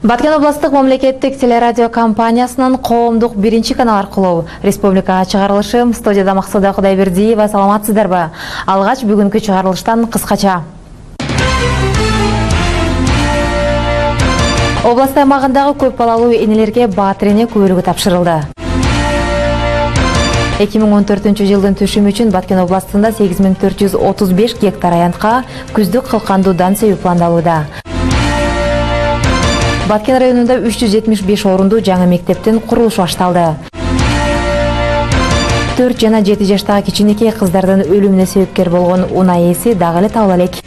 Баткен областык мамлекеттик телерадио компаниясынын коомдук биринчи канал аркылуу республикага чыгарылышы. Студияда Максуда Кудайбердиева, саламатсыздарбы? Алгач бүгүнкү чыгарылыштан кыскача. Област аймагындагы көп балалуу энелерге баатыр эне көбөлүгү тапшырылды. 2014 жылдын түшүмү үчүн Баткен областында 8435 гектар аянтка күздүк кылкандуу дан себүү пландалууда. Баткен районунда 375 орундуу жаңы мектептин курулушу башталды. 4 жана 7 жаштагы кичинекей кыздардын өлүмүнө себепкер болгон унаа ээси дагы эле табыла элек.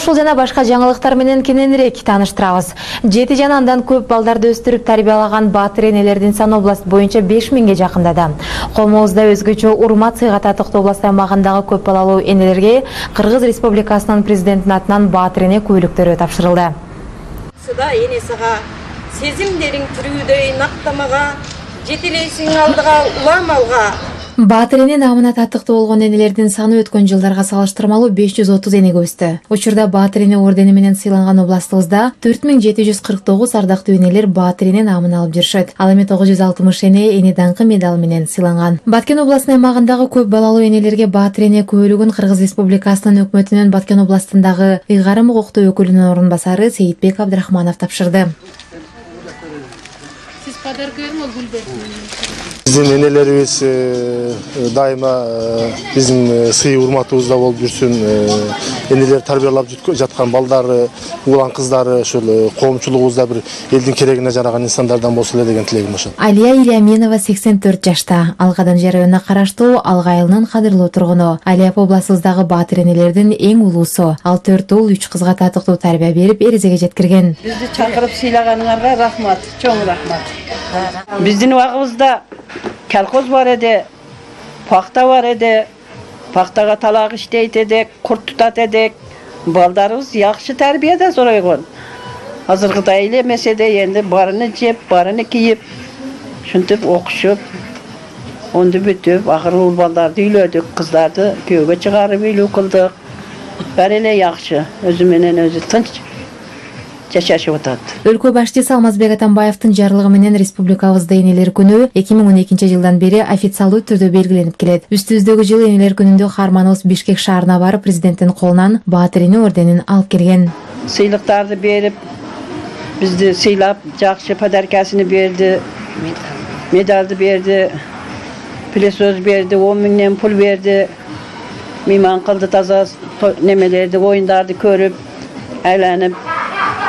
Ушул жана башка жаңылыктар менен кененирээк тааныштырабыз. 7 жана андан көп балдарды өстүрүп тарбиялаган баатыр энелердин саны област боюнча 5000ге жакындады. Коомубузда өзгөчө урмат сыйга татыктуу област аймагындагы көп балалуу энелерге Кыргыз Республикасынын президентинин атынан баатыр эне көбөлүктөрү тапшырылды. Сыда энесига сезимдериң түрүүдөй нактамага жетелейсиң алдыга улам алга. Баатыр эне намына татыктуу болгон энелердин саны өткөн жылдарга салыштырмалуу 530 энеге өстү. Учурда баатыр эне ордени менен сыйланган областыбызда 4749 ардактуу энелер баатыр эне намын алып жүрүшөт. Ал эми 960 эне даңкы медалы менен сыйланган. Баткен областынын аймагындагы көп балалуу энелерге баатыр эне көбөлүгүн Кыргыз Республикасынын өкмөтүнүн Баткен областындагы ыйгарым укуктуу өкүлүнүн орун басары Сейитбек Абдрахманов тапшырды. Сиз подаркаңызды гүлдөрдү. Биздин энелерибиз дайыма биздин сый урматыбызда болуп жүрсүн. Энелер тарбиялап жаткан балдары, улан кыздары ушул коомчулугубузда бир элдин керегине жараган инсандардан болсо эле деген тилегим ошол. Алия Ильяменова 84 жашта. Алгадан районуна караштуу Алга айылынын кадырлуу тургуну. Алия областыбыздагы баатыр энелердин эң улуусу. Ал 4 уул 3 кызга татыктуу тарбия берип, эрезеге жеткирген. Бизди чакырып сыйлаганыңарга рахмат, чоң рахмат. Биздин убагыбызда колхоз бар эди, пахта бар эди, пахтага талак иштейт эдик, курт тутат эдик. Балдарыбыз жакшы тарбияда зоройгон. Азыркыдай эле эмесе да энди барыны жеп, барыны кийип, ушинтип окушуп, онду бүтүп, акыры уул балдарды үйлөдүк, кыздарды күйөөгө чыгарып үйлүү кылдык. Баары эле жакшы, өзү менен өзү тынч жашашып атат. Өлкө башчысы Алмазбек Атамбаевдин жарлыгы менен республикабызда энелер күнү 2012 жылдан бери официалдуу түрдө белгиленип келет. Үстүбүздөгү жылы энелер күнүндө каарманыбыз Бишкек шаарына барып, президенттин колунан баатыр эне орденин алып келген. Сыйлыктарды берип, бизди сыйлап, жакшы подаркасын берди, медалды берди, пилесөз берди, 10 миңден пул берди. Мейман кылды, таза немелерди, оюндарды көрүп, айланып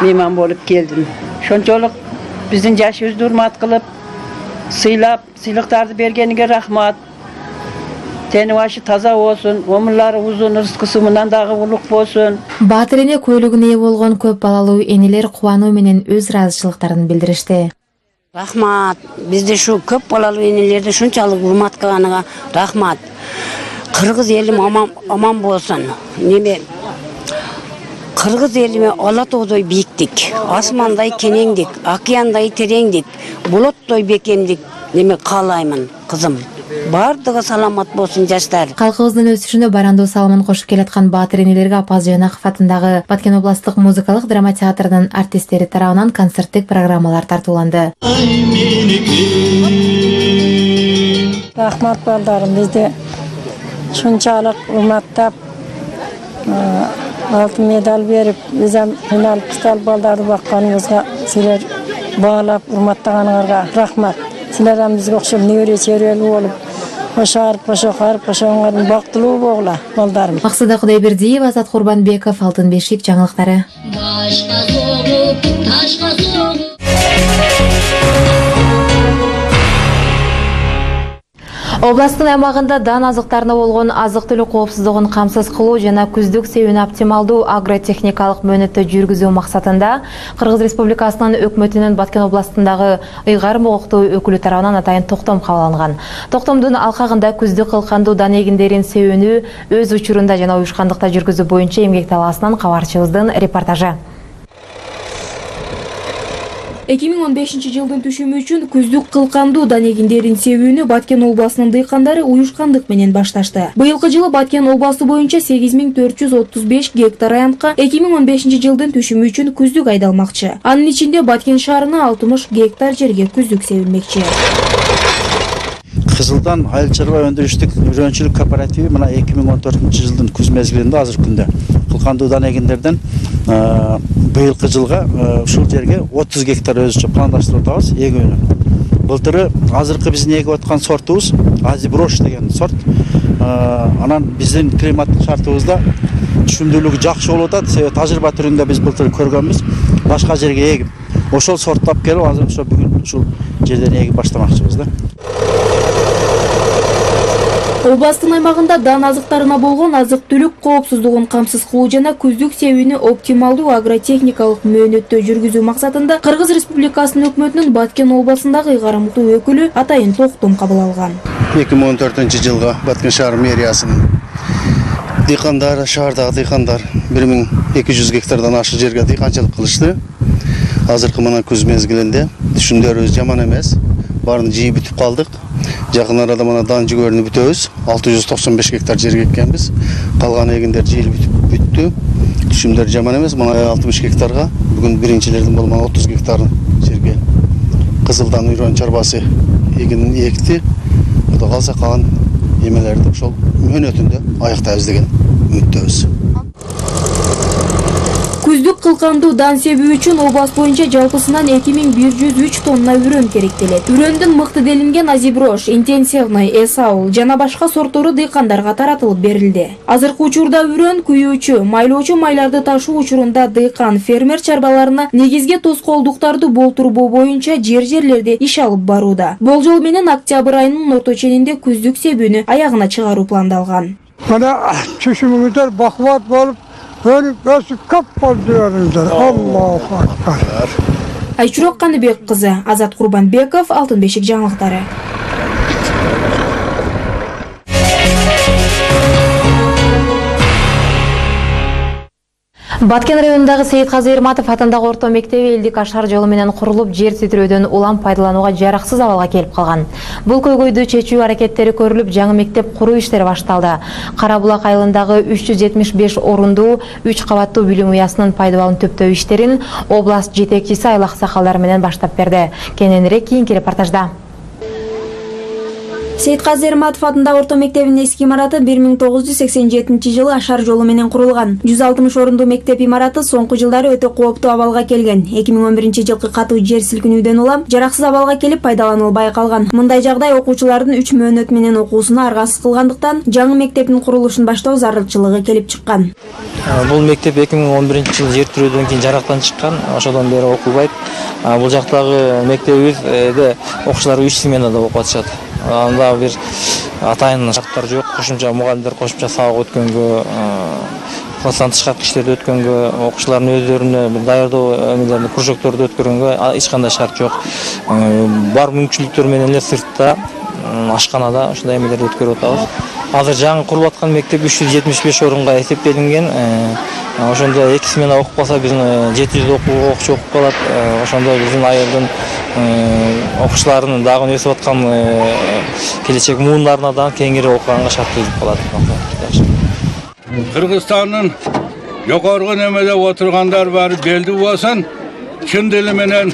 мейман болуп келдим. Ошончолук биздин жашыбызды урмат кылып, сыйлап, сыйлыктарды бергениге рахмат. Тени башы таза болсун, өмүрлөрү узун, рызкысы мындан дагы улук болсун. Баатыр эне көбөлүгүнө ээ болгон көп балалуу энелер кубануу менен өз ыраазычылыктарын билдиришти. Рахмат. Бизди ушу көп балалуу энелерди ушунчалык урмат кылганыңа рахмат. Кыргыз элим аман болсун. Кыргыз элиме ала тоодой бийиктик, асмандай кенеңдик, океандай тереңдик, булуттой бекемдик каалаймын, кызым. Бардыгы саламат болсун жаштар. Калкыбыздын өсүшүнө барандоо салымын кошуп келаткан баатыр энелерге Апаз Жээнаков атындагы Баткен областык музыкалык драма театрынын артисттери тарабынан концерттик программалар тартууланды. Рахмат балдарым, бизди ушунчалык урматтап, алтын медаль берип, бизем финалисттер балдарды бакканыбызга силер баалап, урматтаганыңарга рахмат. Силер бизге окшоп небере чөйрөлүү болуп, кошарып, кошоңордун бактылуу болгула балдарым. Максуда Кудайбердиева, Азат Курбанбеков, Алтын бешик жаңылыктары. Областтын аймагында дан азыктарына болгон азык-түлүк коопсуздугун камсыз кылуу жана күздүк себүүнү оптималдуу агротехникалык мөөнөттө жүргүзүү максатында Кыргыз Республикасынын өкмөтүнүн Баткен областындагы ыйгарым укуктуу өкүлү тарабынан атайын токтом кабыл алынган. Токтомдун алкагында күздүк кылкандуу дан эгиндерин себүүнү өз учурунда жана уюшкандыкта жүргүзүү боюнча эмгек талаасынан кабарчыбыздын репортажы. 2015-жылдын түшүмү үчүн күздүк кылкандуу дан эгиндерин себүүнү Баткен областынын дыйкандары уюшкандык менен башташты. Быйылкы жылы Баткен областы боюнча 8435 гектар аянтка 2015-жылдын түшүмү үчүн күздүк айдалмакчы. Анын ичинде Баткен шаарына 60 гектар жерге күздүк себилмекчи. Кызылдан айыл чарба өндүрүштүк үйрөнчүлүк кооперативи мына 2014-жылдын күз мезгилинде азыркы күндө кылкандуу дан эгиндерден быйылкы жылга ушул жерге 30 гектар өзүчө пландаштырып атабыз эгүүнү. Былтыры азыркы биздин эгип аткан сортубуз Азиброш деген сорт. Анан биздин климаттык шартыбызда түшүмдүүлүгү жакшы болуп атат. Себеби тажрыйба түрүндө биз былтыр көргөнбүз. Башка жерге эгип, ошол сорттап келип азыр ошо бүгүн ушул жерден эгип баштамакчыбыз да. Областын аймагында дан азыктарына болгон азык-түлүк коопсуздугун камсыз кылуу жана күздүк себүүнү оптималдуу агротехникалык мөөнөттө жүргүзүү максатында Кыргыз Республикасынын өкмөтүнүн Баткен областындагы ыйгарымдуу өкүлү Атайын Токтом кабыл алган. 2014-жылга Баткен шаар мэриясынын дыйкандары, шаардагы дыйкандар 1200 гектардан ашык жерге дыйканчылык кылышты. Азыркы мына күз мезгилинде түшүмдөрүбүз жаман эмес. Баарын жыйып бүтүп калдык. Жакын арада мына дан жүгөрүнү бүтөбүз. 695 гектар жерге эккенбиз. Калган эгиндер жыйылып бүттү. Түшүмдөр жаман эмес. Мына 60 гектарга бүгүн биринчилердин болгон 30 гектар жерге кызылдан үйрөн чарбасы эгинин экти. Кудай калса калган эмелерди ошол мөөнөтүндө аяктайбыз деген үмүттөбүз. Күздүк кылкандуу дан себүү үчүн област боюнча жалпысынан 2103 тонна үрөн керектелет. Үрөндүн мыкты делинген Азиброш, интенсивный, Эсаул жана башка сорттору дыйкандарга таратылып берилди. Азыркы учурда үрөн күйүүчү, майлоочу майларды ташуу учурунда дыйкан фермер чарбаларына негизги тоскоолдуктарды болтурбоо боюнча жерлерде иш алып барууда. Болжол менен октябрь айынын орто ченинде күздүк себүүнү аягына чыгаруу пландалган. Мына түшүмүңүздөр бакубат болуп өнүп өсүп көп болдуңуздар. Аллаху акбар. Айчурок Каныбек кызы, Азат Курбанбеков, Алтын бешик жаңылыктары. Баткен районундагы Сейит Казы Эрматов атындагы орто мектеби элдик ашар жолу менен курулуп, жер титирөөдөн улам пайдаланууга жараксыз абалга келип калган. Бул көйгөйдү чечүү аракеттери көрүлүп, жаңы мектеп куруу иштери башталды. Кара Булак айылындагы 375 орундуу 3 кабаттуу билим уясынын пайдалануу төптөө иштерин област жетекчиси айыл аксакалдары менен баштап берди. Кененирээк кийинки репортажда. Сейит Казы Эрматов атындагы орто мектебинин эски имараты 1987-жылы ашар жолу менен курулган. 160 орундуу мектеп имараты соңку жылдары өтө кооптуу абалга келген. 2011-жылкы катуу жер силкинүүдөн улам жараксыз абалга келип пайдаланылбай калган. Мындай жагдай окуучулардын 3 мөөнөт менен окуусуна аргасыз кылгандыктан жаңы мектептин курулушун баштоо зарылчылыгы келип чыккан. Бул мектеп 2011-жылы жер тирөөдөн кийин жарактан чыккан. Ошодон бери окулбайт. Бул жактагы мектебибизде окуучулар 3 сменада окуп атышат. Анда бир атайын шарттар жок. Кошумча мугалимдер кошумча сабак өткөнгө, класстан тышкаркы иштерди өткөнгө, окуучулардын өздөрүнө бир даярдоо эмелерди, кружокторду өткөргөнгө эч кандай шарт жок. Бар мүмкүнчүлүктөр менен эле сыртта, ашканада ушундай эмелерди өткөрүп атабыз. Азыр жаңы курулуп аткан мектеп 375 орунга эсептелинген. Ошондо 2 смена окуп калса биздин 700 окуучу окуп калат. Ошондо биздин айылдын окуучуларынын дагы өсүп аткан келечек муундарына да кеңири окуганга шарттуулук калат. Кыргызстандын жогорку немеде отургандар баары белди болсун, чын дили менен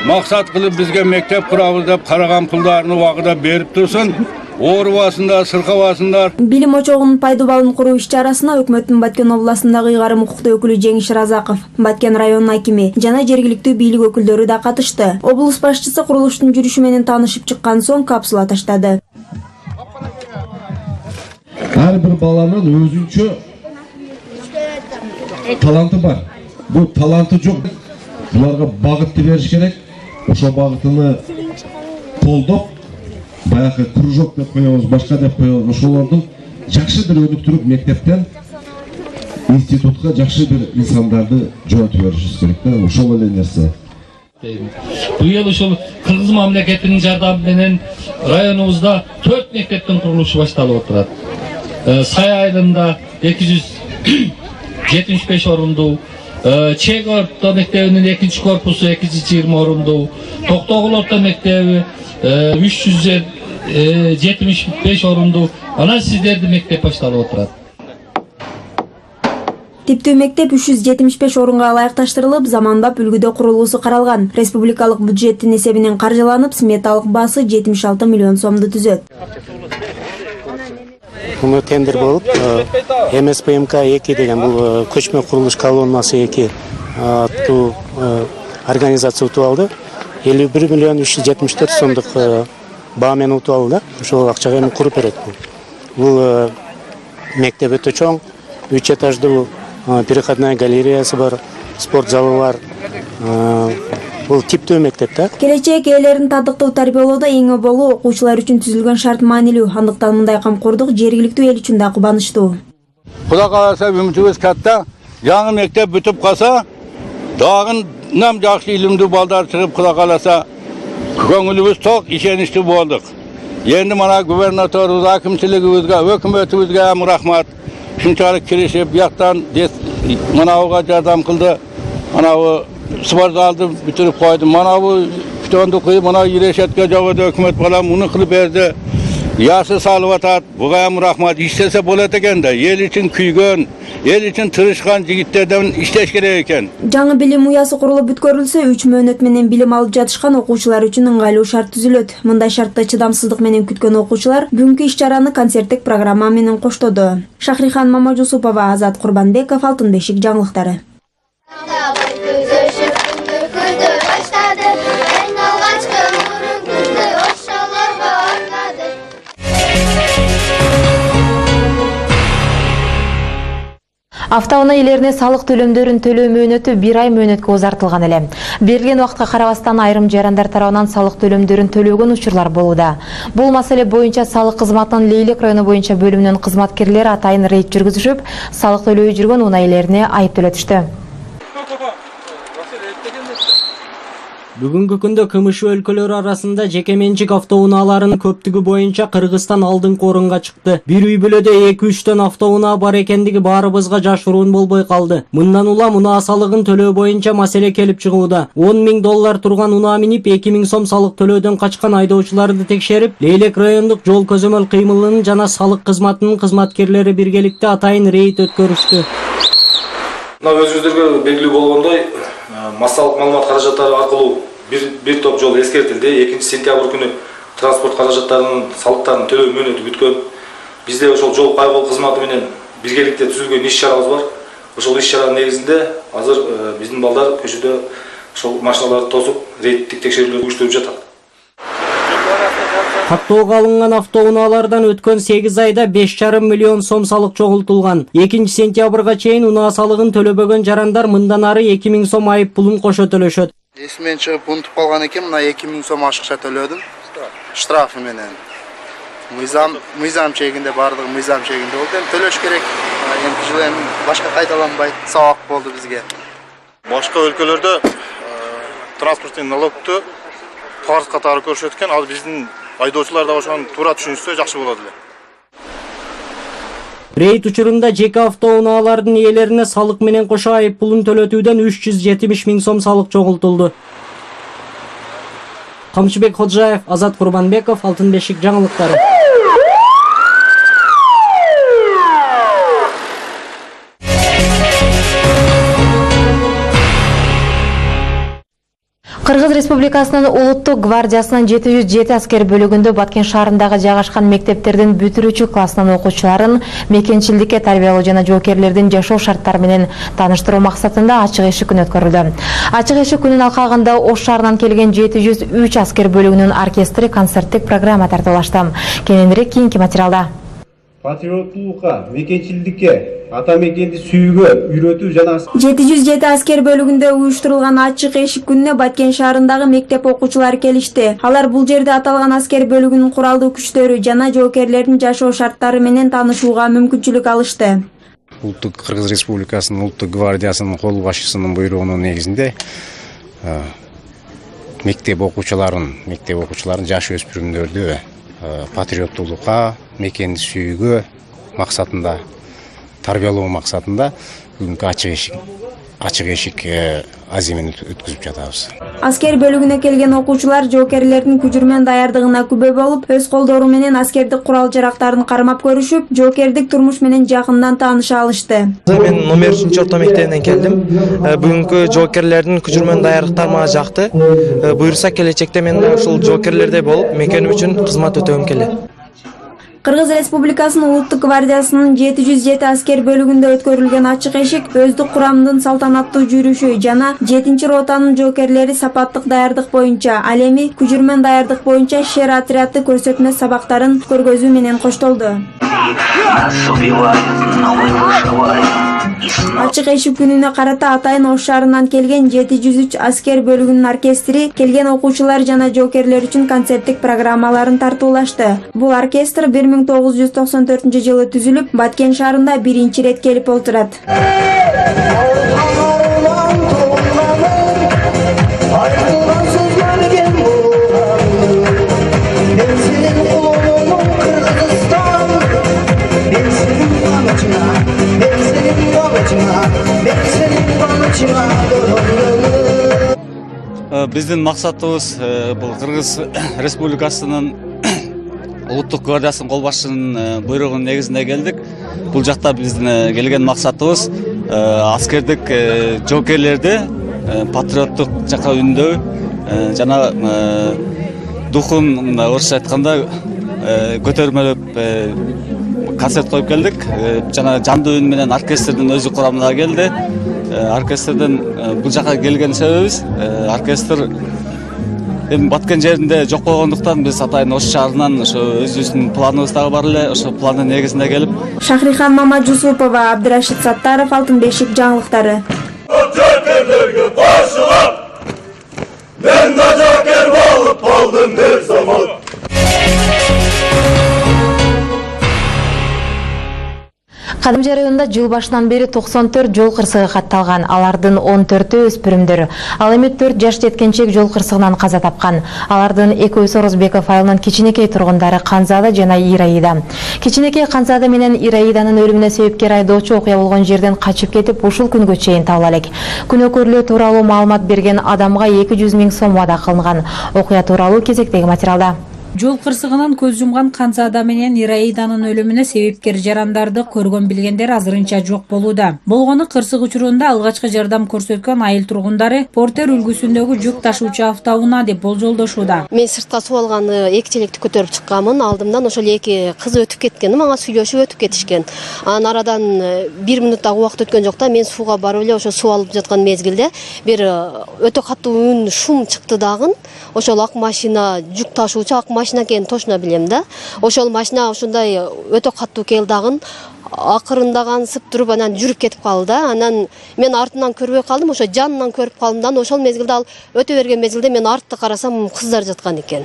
максат кылып бизге мектеп курабыз деп караган пулдарын убагында берип турсун. Оорубасында, сыркабасындар. Билим очогунун пайдубалын куруу иш-чарасына өкмөттүн Баткен областындагы ыйгарым укуктуу өкүлү Жеңиш Разаков, Баткен районунун акими жана жергиликтүү бийлик өкүлдөрү да катышты. Облус башчысы курулуштун жүрүшү менен таанышып чыккан соң капсула таштады. Ар бир баланын өзүнчө таланты бар. Бул таланты жок. Буларга багытты бериш керек. Ошол багытыны колдоп баягы кружок деп коебуз, башка деп коебуз. Ошолордун жакшы бир өнүктүрүп мектептен институтка жакшы бир инсандарды жөнөтүп беришибиз керек да. Ошол эле нерсе. Быйыл ушул Кыргыз мамлекетинин жардамы менен районубузда 4 мектептин курулушу башталып отурат. Сай айылында 275 орундуу, Чек орто мектебинин 2-корпусу 220 орундуу, Токтогул орто мектеби 375 орундуу. Анан сиздердин мектеп башталып отурат. Типтүү мектеп 375 орунга ылайыкташтырылып, заманбап үлгүдө курулуусу каралган. Республикалык бюджеттин эсебинен каржыланып, сметалык баасы 76 миллион сомду түзөт. Бул тендер болуп, МСПМК-2 деген бул көчмө курулуш колоннасы 2 аттуу организация утуп алды. 51 миллион 374 сомдук баа менен утуп алды. Ошол акчага эми куруп берет. Бул мектеп өтө чоң, 3 этаждуу переходная галереясы бар, спорт залы бар. Бул типтүү мектеп да. Келечек ээлерин татыктуу тарбиялоодо эң оболу окуучулар үчүн түзүлгөн шарт маанилүү. Андыктан мындай камкордук жергиликтүү эл үчүн да кубанычтуу. Кудай кааласа үмүтүбүз катта. Жаңы мектеп бүтүп калса, дагы жакшы илимдүү балдар чыгып, кудай кааласа көңүлүбүз ток, ишеничтүү болдук. Эndi мана губернаторубуз, акимчилигибизге, өкмөтүбүзгө рахмат. Шунчалык киришип, бияктан манабыга жардам кылды. Манабы спорт залды бүтүрүп койду. Манабы күтөндү кыйып, мана ирешетке жабыды өкмөт балам муну кылып берди. Яшы салып атат. Буга рахмат. Иштесе болот экен да. Эл үчүн күйгөн, эл үчүн тырышкан жигиттерден иштеш керек экен. Жаңы билим уясы курулуп бүткөрүлсө, 3 мөөнөт менен билим алып жатышкан окуучулар үчүн ыңгайлуу шарт түзүлөт. Мындай шартты чыдамсыздык менен күткөн окуучулар бүгүнкү иш-чараны концерттик программа менен коштоду. Шахрихан Мамажусупова, Азат Курбанбеков, Алтын бешик жаңылыктары. Автоунаа ээлерине салык төлөмдөрүн төлөө мөөнөтү 1 ай мөөнөткө узартылган эле. Берилген убакытка карабастан айрым жарандар тарабынан салык төлөмдөрүн төлөгөн учурлар болууда. Бул маселе боюнча салык кызматынын Лейлек району боюнча бөлүмүнүн кызматкерлери атайын рейд жүргүзүшүп, салык төлөбөй жүргөн унаа ээлерине айып төлөтүштү. Бүгүнкү күндө КМШ өлкөлөрү арасында жеке менчик автоунааларынын көптүгү боюнча Кыргызстан алдыңкы орунга чыкты. Бир үй бүлөдө 2-3төн автоунаа бар экендиги баарыбызга жашыруун болбой калды. Мындан улам унаа салыгын төлөө боюнча маселе келип чыгууда. $10,000 турган унаа минип 2,000 сом салык төлөөдөн качкан айдоочуларды текшерип, Лейлек райондук жол көзөмөл кыймылынын жана салык кызматынын кызматкерлери биргеликте атайын рейд өткөрүштү. Өзүңүздөргө белгилүү болгондой, массалык маалымат каражаттары аркылуу бир топ жол эскертилди. 2-сентябрь күнү транспорт каражаттарынын салыктарын төлөө мөөнөтү бүткөн. Бизде ошол жол кайгыл кызматы менен биргеликте түзүлгөн иш-чарабыз бар. Ошол иш-чаранын негизинде азыр биздин балдар көчөдө ошол машиналарды тосуп, рейдтик текшерүүлөрдү уюштуруп жатат. Каттоого алынган автоунаалардан өткөн 8 айда 5,5 миллион сом салык чогултулган. 2-сентябрга чейин унаа салыгын төлөбөгөн жарандар мындан ары 2,000 сом айып пулун кошо төлөшөт. Эсимен чыгып унутуп калган экен, мына 2,000 сом ашыкча төлөдүм. Штрафы менен. Мыйзам чегинде бардыгы мыйзам чегинде болду. Эми төлөш керек. Эми жыл эми башка кайталанбайт. Сабак болду бизге. Башка өлкөлөрдө транспорттун налогту фарз катары көрүшөт экен. Ал биздин айдоочулар да ошону туура түшүнүшсө жакшы болот эле. Рейд учурунда жеке автоунаалардын ээлерине салык менен кошо айып пулун төлөтүүдөн 370 000 сом салык чогултулду. Камчыбек Ходжаев, Азат Курбанбеков, Алтын бешик жаңылыктары. Кыргыз Республикасынын улуттук гвардиясынын 707 аскер бөлүгүндө Баткен шаарындагы жайгашкан мектептердин бүтүрүүчү классынын окуучуларын мекенчилдикке тарбиялоо жана жоокерлердин жашоо шарттары менен тааныштыруу максатында ачык эшик күнү өткөрүлдү. Ачык эшик күнүнүн алкагында Ош шаарынан келген 703 аскер бөлүгүнүн оркестри концерттик программа тартуулашты. Кененирээк кийинки материалда. Патриоттуулукка, мекенчилдикке, ата мекенди сүйүүгө үйрөтүү жана 707 аскер бөлүгүндө уюштурулган ачык эшик күнүнө Баткен шаарындагы мектеп окуучулары келишти. Алар бул жерде аталган аскер бөлүгүнүн куралдуу күчтөрү жана жоокерлердин жашоо шарттары менен таанышууга мүмкүнчүлүк алышты. Улуттук Кыргыз Республикасынын улуттук гвардиясынын кол башчысынын буйругунун негизинде мектеп окуучуларын жаш өспүрүмдөрдү патриоттуулукка, мекенди сүйүүгө максатында, тарбиялоо максатында бүгүнкү ачык эшик аземин өткүзүп жатабыз. Аскер бөлүгүнө келген окуучулар жоокерлердин күжүрмөн даярдыгына күбө болуп, өз колдору менен аскердик курал-жарактарын кармап көрүшүп, жоокердик турмуш менен жакындан тааныша алышты. Мен номер 3 орто мектебинен келдим. Бүгүнкү жоокерлердин күжүрмөн даярдыктары мага жакты. Буюрса келечекте мен ушул жоокерлердей болуп, мекеним үчүн кызмат өтөгүм келет. Кыргыз Республикасынын Улуттук гвардиясынын 707 аскер бөлүгүндө өткөрүлгөн ачык эшик өздүк курамдын салтанаттуу жүрүшү жана 7-ротанын жоокерлери сапаттык даярдык боюнча, ал эми күжүрмөн даярдык боюнча шер отряды көрсөтмө сабактарын көргөзүү менен коштолду. Ачык эшик күнүнө карата Атайын Ош шаарынан келген 703 аскер бөлүгүнүн оркестри келген окуучулар жана жоокерлер үчүн концерттик программаларын тартуулашты. Бул оркестр 1994-жылы түзүлүп, Баткен шаарында биринчи рет келип олтурат. Биздин максатыбыз бул Кыргыз Республикасынын Улуттук гвардиясынын кол башчысынын буйругунун негизинде келдик. Бул жакта биздин келген максатыбыз аскердик жоокерлерди патриоттук жакка үндөв жана духун орусча айтканда көтөрмөлөп концерт коюп келдик. Жана жандуу үн менен оркестрдин өзү курамына келди. Оркестрден бул жака келген себебибиз оркестр эми Баткен жеринде жок болгондуктан биз Атайын Ош шаарынан ошо өзүбүздүн планыбыз дагы бар эле, ошо пландын негизинде келип. Шахрихан Мамажусупова, Абдырашид Саттаров, Алтын бешик жаңылыктары. Жокерлерге кошулуп, мен да жокер болуп калдым бир заман. Кадымжы районунда жыл башынан бери 94 жол кырсыгы катталган. Алардын 14-ü өспүрүмдөр. Ал эми 4 жаш жеткенчек жол кырсыгынан каза тапкан. Алардын экөөсү Орозбеков айылынын Кичинекей тургундары Канзада жана Ираида. Кичинекей Канзада менен Ираиданын өлүмүнө себепкер айдоочу окуя болгон жерден качып кетип, ушул күнгө чейин табыла элек. Күнөөкөрлүү тууралуу маалымат берген адамга 200 000 сом вада кылынган. Окуя тууралуу кезектеги материалда. Жол кырсыгынан көз жумган Канзада менен Ираиданын өлүмүнө себепкер жарандарды көргөн билгендер азырынча жок болууда. Болгону кырсык учурунда алгачкы жардам көрсөткөн айыл тургундары Портер үлгүсүндөгү жүк ташуучу автоунаа деп болжолдошууда. Мен сыртка суу алганы эки челекти көтөрүп чыкканмын. Алдымдан ошол эки кыз өтүп кеткен, мага сүйлөшүп өтүп кетишкен. Анан арадан 1 мүнөт дагы убакыт өткөн жок да, мен сууга барып эле ошо суу алып жаткан мезгилде бир өтө катуу үн, шум чыкты дагы. Ошол ак машина, жүк ташуучу ак машина экенин точно билем да. Ошол машина ушундай өтө катуу кел дагы акырында кансып туруп анан жүрүп кетип калды да. Анан мен артынан көрбөй калдым, ошо жанынан көрүп калдым да. Ошол мезгилде ал өтө берген мезгилде мен артты карасам кыздар жаткан экен.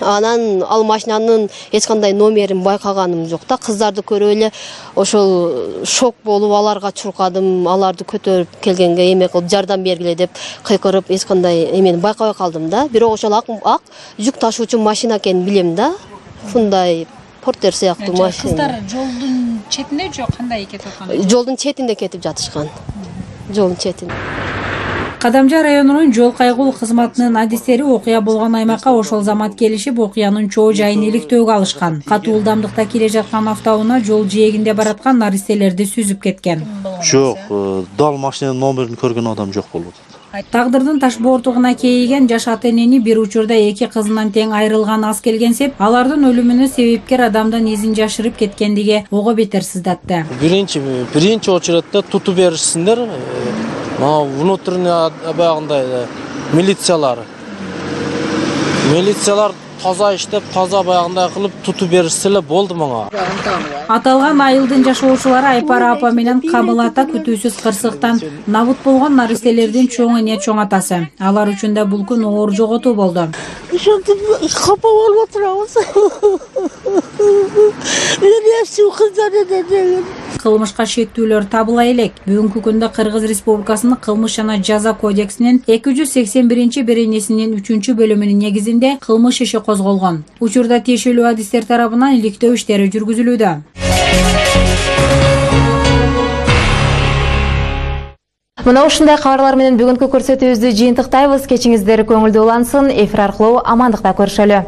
Анан ал машинанын эч кандай номерин байкаганым жок да. Кыздарды көрүп эле ошол шок болуп аларга чуркадым, аларды көтөрүп келгенге эме кылып жардам бергиле деп кыйкырып эч кандай эмени байкабай калдым да. Бирок ошол ак жүк ташуучу машина экенин билем да. Ушундай Портер сыяктуу машина. Кыздар жолдун четинде жок, кандай кетип аткан? Жолдун четинде кетип жатышкан. Жолдун четинде. Кадамжы районунун жол кайгылуу кызматынын адистери окуя болгон аймакка ошол замат келишип, окуянын чоо жайын иликтөөгө алышкан. Катуу ылдамдыкта келе жаткан автоунаа жол жээгинде бараткан наристелерди сүзүп кеткен. Жок, дал машинанын номерин көргөн адам жок болот. Тагдырдын таш боортугуна кейиген жаш ата энени бир учурда эки кызынан тең айрылган аз келгенсеп, алардын өлүмүнө себепкер адамдын изин жашырып кеткендиги ого бетер сыздатты. Биринчи очередде тутуп беришсиндер. Внутренний баягындай милициялар таза иштеп, таза баягындай кылып тутуп беришсе эле болду мага. Аталган айылдын жашоочулары Айпара апа менен Камыл ата күтүүсүз кырсыктан набыт болгон наристелердин чоң эне чоң атасы. Алар үчүн да бул күн оор жоготуу болду. Ошентип капа болуп отурабыз. Кылмышка шектүүлөр табыла элек. Бүгүнкү күндө Кыргыз Республикасынын кылмыш жана жаза кодексинин 281-беренесинин 3-бөлүмүнүн негизинде кылмыш иши козголгон. Учурда тиешелүү адистер тарабынан иликтөө иштери жүргүзүлүүдө. Мына ушундай кабарлар менен бүгүнкү көрсөтүүбүздү жыйынтыктайбыз. Кечиңиздер көңүлдүү улансын. Эфир аркылуу амандыкта көрүшөлү.